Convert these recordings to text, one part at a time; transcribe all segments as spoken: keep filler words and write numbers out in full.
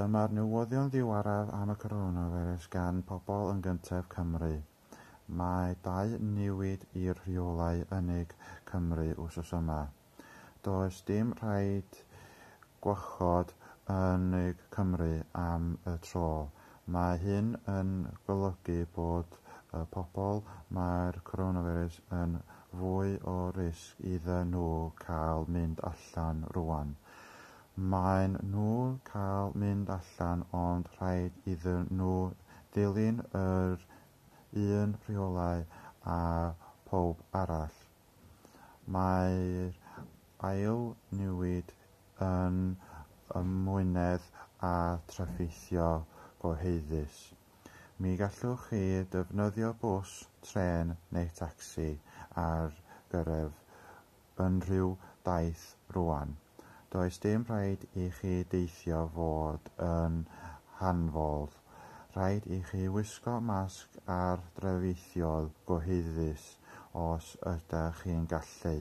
Dyma'r newyddion ddiweddaraf am y coronavirus gan Pobl yn Gyntaf Cymru. Mae dau newid i'r rheolau yn Cymru wythnos yma. Does dim rhaid gwarchod yn Cymru am y tro. Mae hyn yn golygu bod y pobl mae'r coronavirus yn fwy o risg iddyn nhw cael mynd allan rwan. Maen nhw'n cael mynd allan ond rhaid iddyn nhw ddilyn yr un rheolau â phawb arall. Mae'r ail newid yn ymwneud â trafnidiaeth gyhoeddus. Mi gallwch chi ddefnyddio bws, trên neu tacsi ar gyfer unrhyw daith rwan. Does dim rhaid i chi deithio fod yn hanfodol. Rhaid i chi wisgo masg ar drafnidiaeth gyhoeddus os ydych chi'n gallu.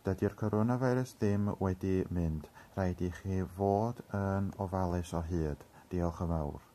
Dydy'r coronavirus ddim wedi mynd. Rhaid i chi fod yn ofalus o hyd. Diolch yn fawr.